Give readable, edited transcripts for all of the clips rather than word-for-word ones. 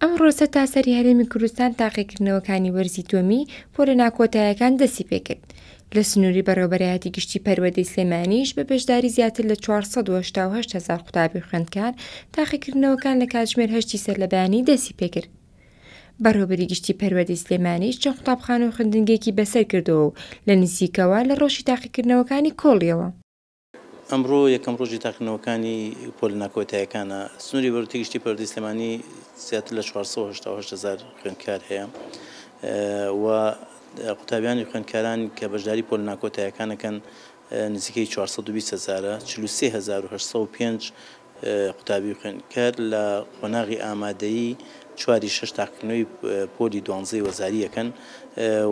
ئەمڕۆ سەرتاسەری هەرێمی کوردستان تاقیکردنەوەکانی وەرزی دووەمی پۆلە ناکۆتایەکان دەستی پێکرد. لە سنووری بەڕێوەبەرایەتی گشتی پەروەردەی سلێمانیش بە بەشداری زیاتر لە 488 هەزار قوتابی و خوێندکار تاقیکردنەوەکان لە کاتژمێر هەشتی سەرلەبەیانی دەستی پێکرد. بەڕێوەبەری گشتی پەروەردەی سلێمانیش چەند قوتابخانە و خوێندنگەیەکی بەسەر کردەوە و لە نزیکەوە لە ڕەوشی تاقیکردنەوەکانی کۆڵیەوە. ئەمڕۆ یەکەم ڕۆژی تاقیکردنەوەکانی پۆلە ناکۆتایەکانە، سنووری بەڕێوەبەری گشتی پەروەردەی سلێمانی زیاتر لە 488 هەزار خوێندکار هەیە و قوتابیانی خوێندکاران کە بەشداری پۆلە ناکۆتایەکان ئەکەن نزیکەی 420 هەزارە، 43805 قوتابی و خوێندکار لە قۆناغی ئامادەیی چواری شەش تاقیکردنەوەی پۆلی دوانزەی وەزاری ئەکەن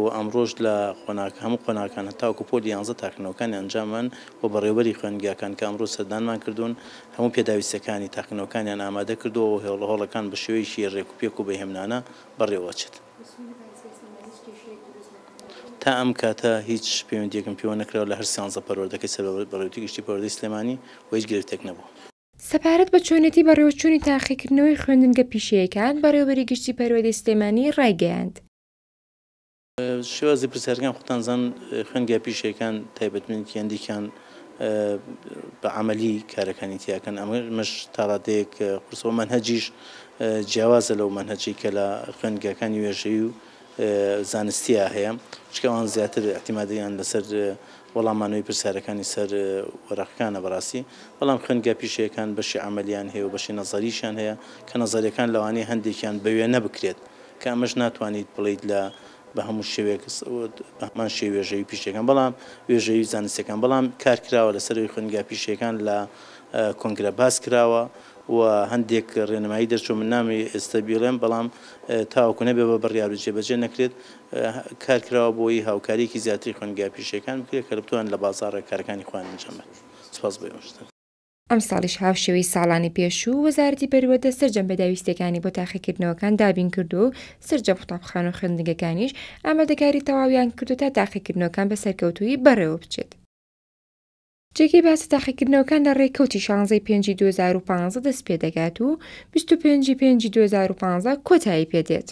و ئەمڕۆش لە قۆناغ هەموو قۆناغەکان هەتاوەکو پۆلی یانزە تاقیکردنەوەکانی ئەنجامان و بەڕێوەبەری خوێندگاکان کە ئەمڕۆ سەردانمان کردوون هەموو پێداویستیەکانی تاقیکردنەوەکانیان ئامادە کردووە و هۆڵەکان بە شێوەیەکی رێکوپێک و بەهێمنانە بەڕێوەچێت. تا ئەم کاتە هیچ پەیوەندیەکم پێوە نەکراوە لە هەر سیانزە پەروەردەکەی سەر بە بەڕێوەبەری گشتی پەروەردەی سلێمانی و هیچ گرفتێک نەبووە. سەبارەت بە چۆنێتی بەڕێوەچوونی تاقیکردنەوەی خوێندنگە پیشەیەکان، بەڕێوەبەری گشتی پەروەردەی سلێمانی ڕایگەیاند. شێوازی پرسیارەکان خۆتان زان خوێندگا پیشەیەکان تایبەتمەندی هەندێکیان بە عەمەلی کارەکانی تیاکەن ئەمەش تاڕادەیەک قورسە و مەنهەجیش جیاوازە لەو مەنهەجەی کە لە خوێندگاکانی وێژەیی و زانستیە هەیە چونکە ئەوان زیاتر ئیعتیمادیان لەسەر وەڵامانەوەی پرسیارەکانی سەر وەرەقەکانە بەڕاستی بەڵام خوێندگا پیشەیەکان بەشی عەمەلیان هەیە و بەشی نەزەریشیان هەیە کە نەزەریەکان لەوانەیە هەندێکیان بە وێنە بکرێت کە ئەمەش ناتوانیت بڵێیت لە بە هەموو شێوەیەک بە هەمان شێوەی وێژەیی پیشەکان بەڵام وێژەیی و زانستیەکان بەڵام کار کراوە لەسەر ئەوی خوێندگا پیشەکان لە کۆنگرە باس کراوە و هەندێک ڕێنمایی دەرچوو من نامەوێ ئێستا بیڵێم بەڵام تاوەکو نەبێ بە بڕیار و جێبەجێ نەکرێت کار کراوە بۆی هاوکاریەکی زیاتری خوێندگا پیشەکان بکرێت کە بتوانن لە بازاڕێ کارەکانی خۆیان ئەنجام بدەن سپاس بۆ ئێوەش. ئەمساڵیش هاوشێوەی ساڵانی پێشوو، وەزارەتی پەروەردە سەرجەم پێداویستییەکانی بۆ تاقیکردنەوەکان دابینکردووە و سەرجەم قوتابخانە و خوێندنگەکانیش ئامادەکاری تەواویان کردووە تا تاقیکردنەوەکان بە سەرکەوتوویی بەڕێوەبچێت. جێگەی باسە تاقیکردنەوەکان لە ڕێکەوتی شانزەی پێنجی 2015 دەستپێدەکات و 25 ی پێنجی 2015 کۆتایی پێدێت.